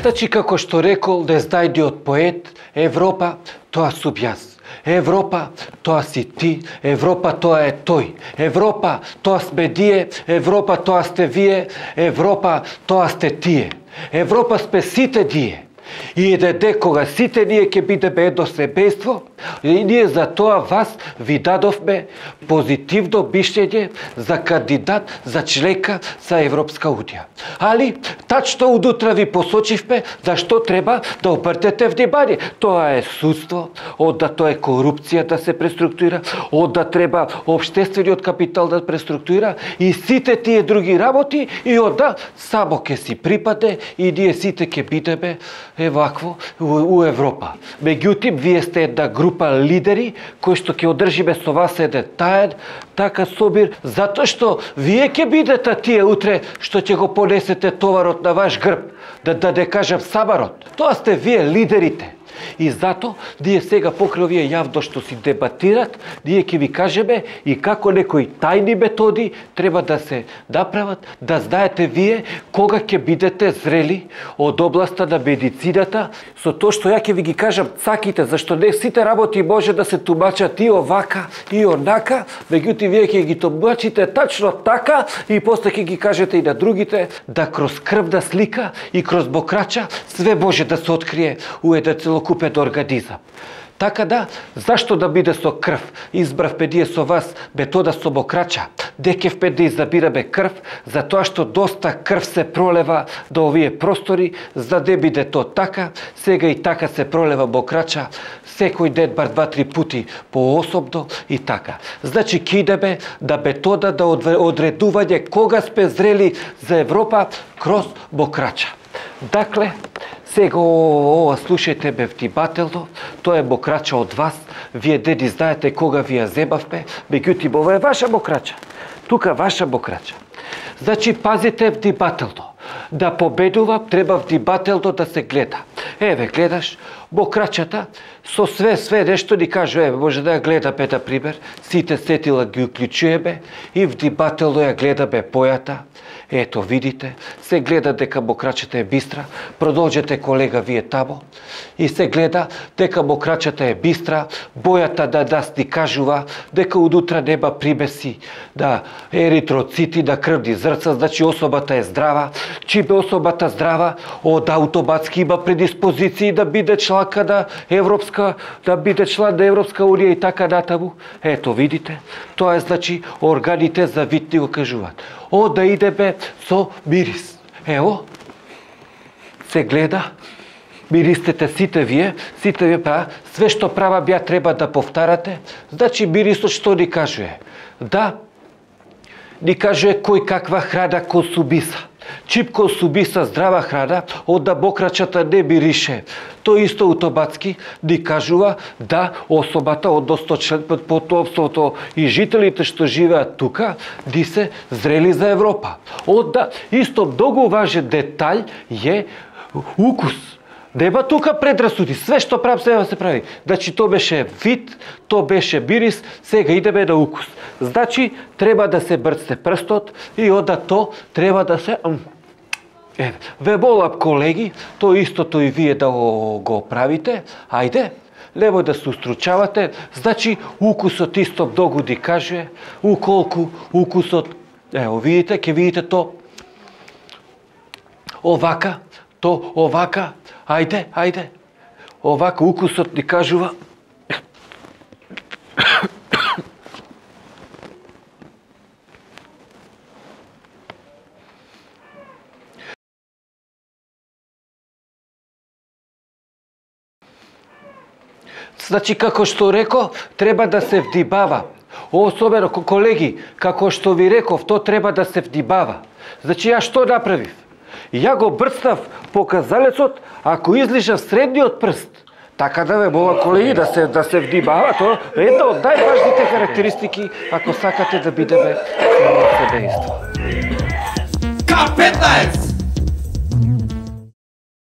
Значи, како што рекол незнајдиот поет, Европа, тоа сум јас. Европа, тоа си ти, Европа, тоа е тој. Европа, тоа сме ние, Европа, тоа сте вие, Европа, тоа сте тие. Европа сме сите ние. И еде кога сите ние ќе бидеме едно семејство, и ние за тоа вас ви дадовме позитивно мишљење за кандидат за членка за Европска унија. Али, тачно удутра ви посочивме зашто треба да обртете внимание. Тоа е судство, онда тоа е корупција да се преструктуира, онда треба општествениот капитал да преструктуира и сите тие други работи и онда само ќе си припаде и ние сите ќе бидеме вакво у Европа. Меѓутоа, вие сте една група лидери кои што ќе одржиме со вас еден таен, така собир, затоа што вие ќе бидете тие утре што ќе го понесете товарот на ваш грб, да не кажам сабарот. Тоа сте вие лидерите. И зато ние сега покрај овие јавно што си дебатират, ние ќе ви кажеме и како некои тајни методи треба да се направат, да знаете вие кога ќе бидете зрели од областа на медицината, со тоа што ја ќе ви ги кажам цаките, зашто не сите работи може да се тумачат и овака и онака, меѓутоа вие ќе ги тумачите тачно така и после ќе ги кажете и на другите, да кроз крвна слика и кроз бокрача све може да се открие у еден целокупен организам. Така да, зашто да биде со крв? Избравме ние со вас метода со бокрача. Декевме да изабираме крв, затоа што доста крв се пролева до овие простори, за да биде то така, сега и така се пролева бокрача, секој ден бар 2-3 пути поособно и така. Значи, ќе идеме да метода да одредување кога сме зрели за Европа кроз бокрача. Дакле, сега ова слушајте ме внимателно, тоа е бокрача од вас, вие деди знаете кога ви ја земавме, меѓутоа ова е ваша бокрача, тука ваша бокрача. Значи, пазите внимателно, да победува треба внимателно да се гледа. Еве, гледаш, бокрачата, со све нешто ни кажу, еве, може да ја гледаме, например, сите сетила ги уклучуваме и внимателно ја гледаме појата. Ето, видите, се гледа дека бокрачата е бистра, продолжете колега вие тамо, и се гледа дека бокрачата е бистра, бојата да нас ни кажува дека удутра нема примеси да еритроцити, да крвни зрца, значи особата е здрава, чиме особата здрава, од автоматски има предиспозиции да биде чланка на Европска, да биде члан на Европска унија и така натаму. Ето, видите, тоа е, значи, органите за вид ни го кажуваат. Да идеме со мирис. Ево, се гледа, миристете сите вие, све што права бја треба да повтарате, значи мирисот што ни кажува? Да, ни кажува кој каква храна консумиса. Чип консумиса здрава храна, онда бокрачата не мирише. Тој исто автоматски ни кажува да особата, односно потомството и жителите што живеат тука, ди се зрели за Европа. Онда исто многу важен детаљ е укус. Нема тука предрасуди, све што правам се се прави. Значи, то беше вид, то беше мирис, сега идеме на укус. Значи, треба да се брцне прстот и онда то треба да се... Ве молам, колеги, то истото и вие да го правите. Ајде, немој да се устручавате. Значи, укусот исто многу ни каже, уколку укусот... Ево, видите, ќе видите то овака, то овака. Ајде. Овака укусот ни кажува. Значи, како што реко, треба да се вдибава. Особено, колеги, како што ви реков, то треба да се вдибава. Значи, ја што направив? Ја го брцнав показалецот, ако излижав средниот прст. Така да ве молам, колеги, да се вдибава. Тоа е една од најважните карактеристики, ако сакате да бидеме семејство. К15!